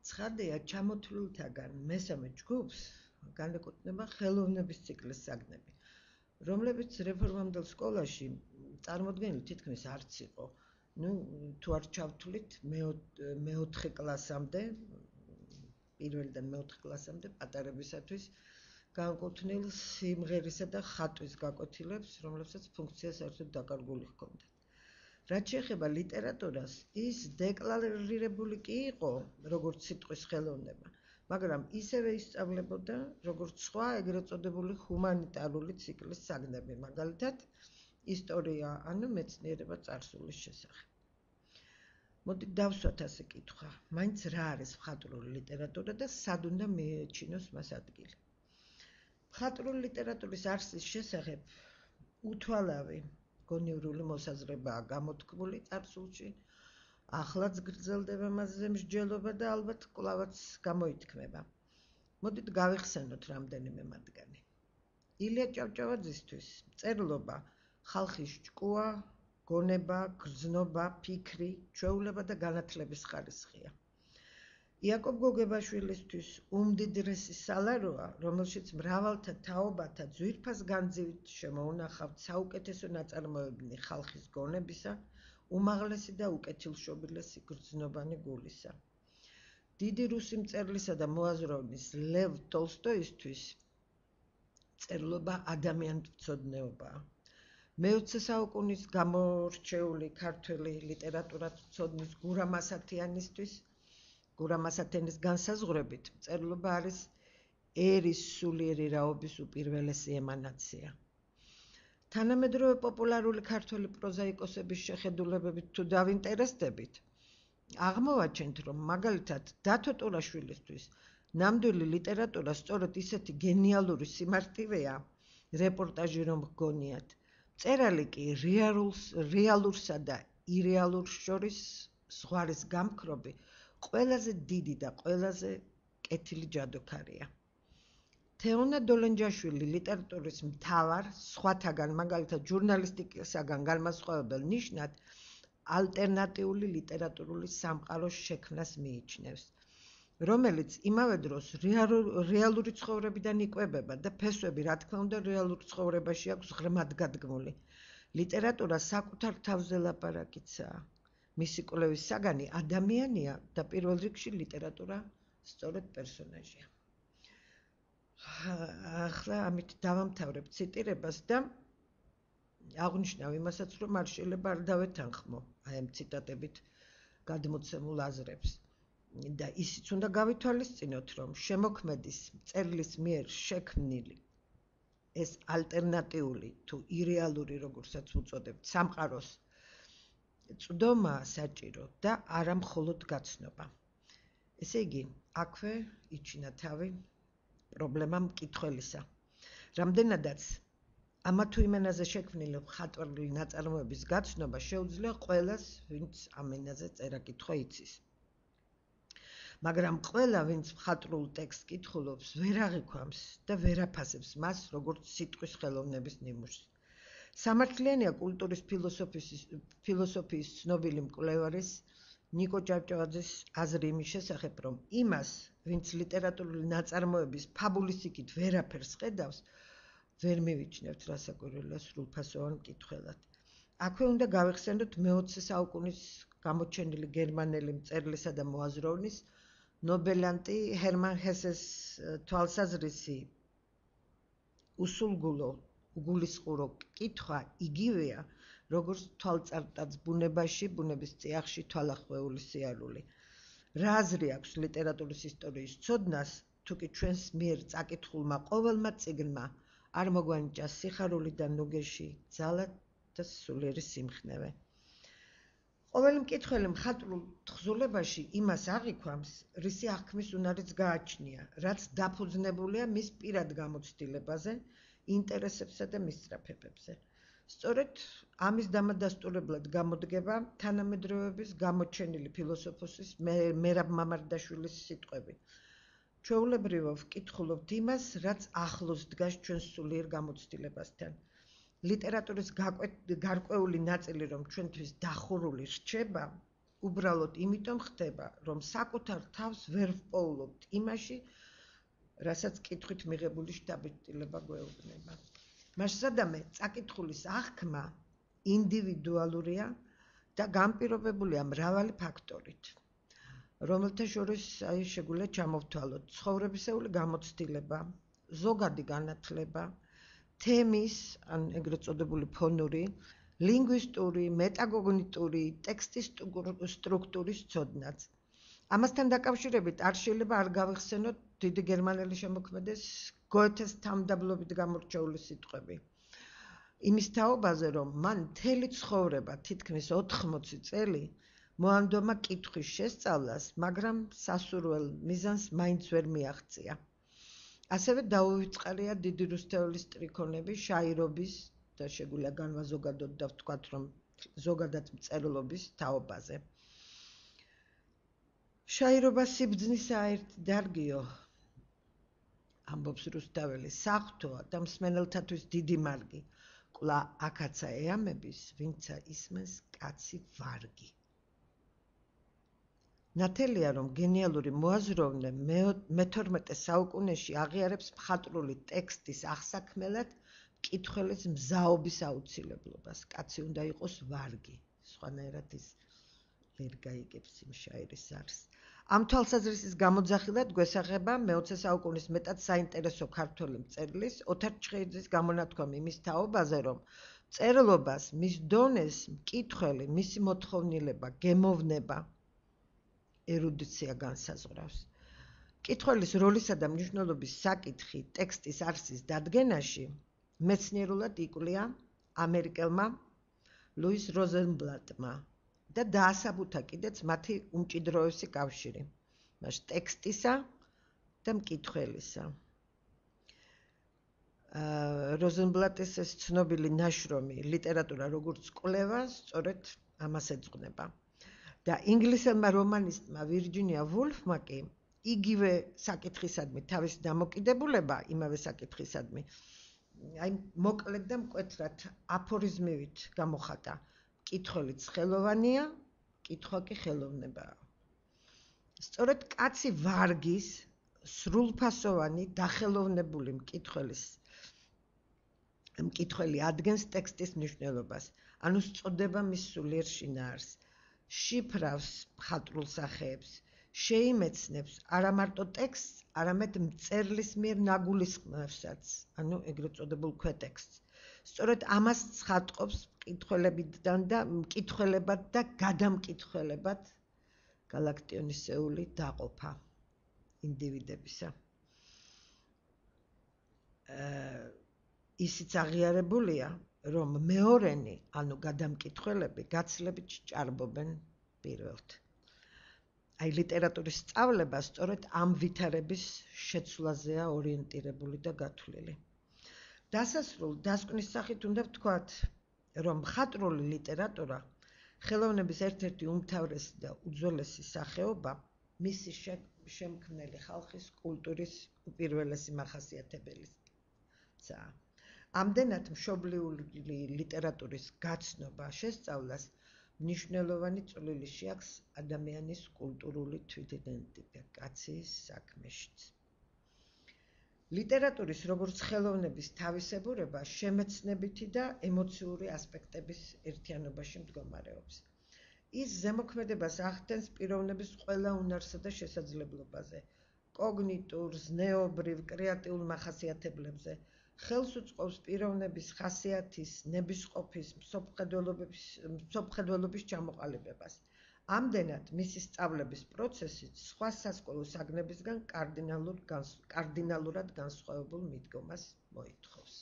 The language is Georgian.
ცხადია, ჩამოთვლილთაგან მესამე ჯგუფს განეკუთვნება ხელოვნების ციკლის საგნები, რომლებიც რეფორმამდელ სკოლაში წარმოდგენილი თითქმის არც იყო. თუ არ ჩავთვლით მეოთხე კლასამდე, პირველიდან მეოთხე კლასამდე პატარებისათვის განკუთვნილ სიმღერისა და ხატვის გაკვეთილებს, რომლებსაც ფუნქცია საერთოდ დაკარგული ჰქონდათ. რაც შეეხება ლიტერატურას, ის დეკლარირებული კი იყო, როგორც სიტყვის ხელოვნება, მაგრამ ისევე ისწავლებოდა, როგორც სხვა ეგრეთ წოდებული ჰუმანიტარული ციკლის საგნები, მაგალითად, ისტორია, ანუ მეცნიერება წარსულის შესახებ. მოდით დავსვათ ასე კითხვა, მაინც რა არის მხატვრული ლიტერატურა და სად უნდა მიეჩინოს მას ადგილი. მხატვრული ლიტერატურის არსის შესახებ უთვალავი გონივრული მოსაზრებაა გამოთქმული წარსულში, ახლაც გრძელდება მასზე მსჯელობა და ალბათ კვლავაც გამოითქმება. მოდით გავიხსენოთ რამდენიმე მათგანი. ილია ჭავჭავაძისთვის წერლობა ხალხის ჭკუა, გონება, გრძნობა, ფიქრი, ჩვეულება და განათლების ხარისხია. იაკობ გოგებაშვილისთვის უმდიდრესი სალაროა, რომელშიც მრავალთა თაობათა ძვირფას განძივით შემოუნახავთ საუკეთესო ნაწარმოებანი ხალხის გონებისა, უმაღლესი და უკეთილშობილესი გრძნობანი გულისა. დიდი რუსი მწერლისა და მოაზროვნის ლევ ტოლსტოისთვის წერლობა ადამიანთმცოდნეობაა. მე-20 საუკუნის გამორჩეული ქართველი ლიტერატურათმცოდნის გურამ ასათენის განსაზღვრებით წერლობა არის ერის სულიერი რაობის უპირველესი ემანაცია. თანამედროვე პოპულარული ქართველი პროზაიკოსების შეხედულებებით თუ დავინტერესდებით, აღმოვაჩენთ, რომ მაგალითად დათო ტურაშვილისთვის ნამდვილი ლიტერატურა სწორედ ისეთი გენიალური სიმარტივეა, რეპორტაჟი რომ გგონიათ. წერალი კი რეალურსა და ირეალურს შორის ზღვარის გამქრობი ყველაზე დიდი და ყველაზე კეთილი ჯადოქარია. თეონა დოლენჯაშვილი ლიტერატურის მთავარ, სხვათაგან, მაგალითად ჟურნალისტიკისაგან განმასხვავებელ ნიშნად, ალტერნატიული ლიტერატურული სამყაროს შექმნას მიიჩნევს, რომელიც იმავე დროს რეალური ცხოვრებიდან იკვებება და ფესვები, რა თქმა უნდა, რეალურ ცხოვრებაში აქვს ღრმად გადგმული. ლიტერატურა საკუთარ თავზე ლაპარაკიცაა. მისი კვლევის საგანი ადამიანია და პირველ რიგში ლიტერატურა სწორედ პერსონაჟია. ახლა ამით დავამთავრებ ციტირებას და აღნიშნავ იმასაც, რომ არ შეიძლება არ დავეთანხმო აი ამ ციტატებით გადმოცემულ აზრებს. და ისიც უნდა გავითვალისწინოთ, რომ შემოქმედის მწერლის მიერ შექმნილი ეს ალტერნატიული თუ ირეალური, როგორცაც უწოდებთ, სამყაროს წვდომა საჭირო და არა მხოლოდ გაცნობა. ესე იგი, აქვე იჩინა თავი პრობლემა მკითხველისა. რამდენადაც ამა თუ იმენაზე შექმნილი მხატვრული ნაწარმოების გაცნობა შეუძლია ყველას, ვინც ამ ენაზე წერა-კითხვა იცის. მაგრამ ყველა, ვინც მხატვრულ ტექსტს კითხულობს, ვერ აღიქვამს და ვერ აფასებს მას, როგორც სიტყვის ხელოვნების ნიმუშს. სამართლიანია კულტურის ფილოსოფიის ცნობილი მკვლევარის ნიკო ჭავჭავაძის აზრი იმის შესახებ, რომ იმას, ვინც ლიტერატურული ნაწარმოების ფაბულის იქით ვერაფერს ხედავს, ვერ მივიჩნევთ რასაკვირველია სრულფასოვან მკითხველად. აქვე უნდა გავიხსენოთ მე-20 საუკუნის გამოჩენილი გერმანელი მწერლისა და მოაზროვნის ნობელანტი ჰერმან ჰესეს თვალსაზრისი უსულგულო, უგულისხმურო კითხვა იგივეა, როგორც თვალწარმტაც ბუნებაში, ბუნების წიაღში თვალახვეული სიარული. რა აზრი აქვს ლიტერატურის ისტორიის ცოდნას, თუ კი ჩვენს მიერ წაკითხულმა ყოველმა წიგნმა არ მოგვანიჭა სიხარული და ნუგეში, ძალა და სულიერი სიმხნევე. ყოველი მკითხველი მხატვრულ თხზულებაში იმას აღიქვამს, რისი აღქმის უნარიც გააჩნია, რაც დაფუძნებულია მის პირად გამოცდილებაზე, ინტერესებსა და მისწრაფებებზე. სწორედ ამის დამადასტურებლად გამოდგება თანამედროვეების გამოჩენილი ფილოსოფოსის მერაბ მამარდაშვილის სიტყვები. ჩვეულებრივ ვკითხულობთ იმას, რაც ახლოს დგას ჩვენს სულიერ გამოცდილებასთან. ლიტერატურის გარკვეული ნაწილი, რომ ჩვენთვის დახურული რჩება, უბრალოდ იმიტომ ხდება, რომ საკუთარ თავს ვერ ვპოულობთ იმაში, რასაც კითხვით მიღებული შთაბეჭდილება გვეუბნება. მასადამე წაკითხulis აღქმა ინდივიდუალურია და განპირობებულია მრავალი ფაქტორით, რომელთა შორის შეგვიძლია ჩამოვთვალოთ ცხოვრებისეული გამოცდილება, ზოგადი განათლება, თემის, ან ეგრეთ წოდებული ფონური, ლინგვისტური, მეტაკოგნიტური, ტექსტის სტრუქტურის ცოდნაც. ამასთან დაკავშირებით არ შეიძლება არ გავიხსენოთ დიდი გერმანელი შემოქმედეს გოეთეს თანმდაბლობით გამორჩეული სიტყვები. იმის თაობაზე, რომ მან მთელი ცხოვრება, თითქმის 80 წელი, მოანდომა კითხვის შესწავლას, მაგრამ სასურველ მიზანს მაინც ვერ მიაღწია. ასევე დაუვიწყარია დიდი რუსთეულის ტრიქონები, შაირობის და შეგვიძლია განვაზოგადოთ და ვთქვათ, რომ ზოგადად მწერლობის თაობაზე. შაირობა სიბრძნისა ერთ დარგიო, ამბობს რუსთაველი, საღვთოა და მსმენელთათვის დიდი მარგი. კვლავ აქაცა ეამების, ვინცა ისმენს კაცი ვარგი. ნათელია, რომ გენიალური მოაზროვნე მე-12 საუკუნეში აღიარებს მხატვრული ტექსტის აღსაქმელად მკითხველის მზაობის აუცილებლობას. კაცი უნდა იყოს ვარგი, სხვანაირად ის ვერ გაიგებს იმ შაირის არსს. ამ თვალსაზრისის გამოძახილად გვესახება მე-20 საუკუნის მეტად საინტერესო ქართველი მწერლის ოთარ ჩხეიძის გამონათქვამი იმის თაობაზე, რომ მწერლობას, მის დონეს, მკითხველი, მისი მოთხოვნილება, გემოვნება, ერუდიცია განსაზღვრავს. მკითხველის როლისა და მნიშვნელობის საკითხი ტექსტის არსის დადგენაში მეცნიერულად იკვლია ამერიკელმა ლუის როზენბლატმა და დაასაბუთა კიდეც მათი უმჭიდროესი კავშირი, მას ტექსტისა და მკითხველისა. როზენბლატის ეს ცნობილი ნაშრომი ლიტერატურა როგორც კვლევა, სწორედ ამას ეძღვნება. და ინგლისელმა რომანისტმა ვირჯინია ვულფმა კი იგივე საკითხისადმი თავისი დამოკიდებულება, იმავე საკითხისადმი, მოკლედ და მკვეთრად აფორიზმივით გამოხატა. მკითხველიც ხელოვანია, კითხვა კი ხელოვნებაა. სწორედ კაცი ვარგის, სრულფასოვანი, დახელოვნებული მკითხველი ადგენს ტექსტის მნიშვნელობას, ანუ სწოდება მის სულიერ შინაარსს, შიფრავს მხატვრულ სახეებს, შეიმეცნებს არა მარტო ტექსტს, არამედ მწერლის მიერ ნაგულისხმევსაც, ანუ ეგრეთ წოდებულ ქვეტექსტს. სწორედ ამას ცხადყოფს მკითხველებად და გადამკითხველებად გალაქტიონისეული დაყოფა ინდივიდებისა. ისიც აღიარებულია, რომ მეორენი, ანუ გადამკითხველები, გაცილებით სჭარბობენ პირველთ. აი ლიტერატურის სწავლება სწორედ ამ ვითარების შეცვლაზეა ორიენტირებული და გათვლილი. დასასრულ დასკვნის სახით უნდა ვთქვათ, რომ მხატვრული ლიტერატურა ხელოვნების ერთ-ერთი უმთავრესი და უძველესი სახეობა, მისი შემქმნელი ხალხის კულტურის უპირველესი მახასიათებელიცაა. ამდენად მშობლიური ლიტერატურის გაცნობა, შესწავლას მნიშვნელოვანი წვლილი შეაქვს ადამიანის კულტურული თვითიდენტიფიკაციის კაცის საქმეშიც. ლიტერატურის როგორც ხელოვნების თავისებურება შემეცნებითი და ემოციური ასპექტების ერთიანობაში მდგომარეობს. ის ზემოქმედებას ახდენს პიროვნების ყველა უნარსა და შესაძლებლობაზე, კოგნიტურ, ზნეობრივ, კრეატიულ მახასიათებლებზე, ხელს უწყობს პიროვნების ხასიათის, ნებისყოფის, მსოფლმხედველობის ჩამოყალიბებას. ამდენად მისი სწავლების პროცესიც სხვა სასკოლო საგნებისგან კარდინალურად განსხვავებულ მიდგომას მოითხოვს.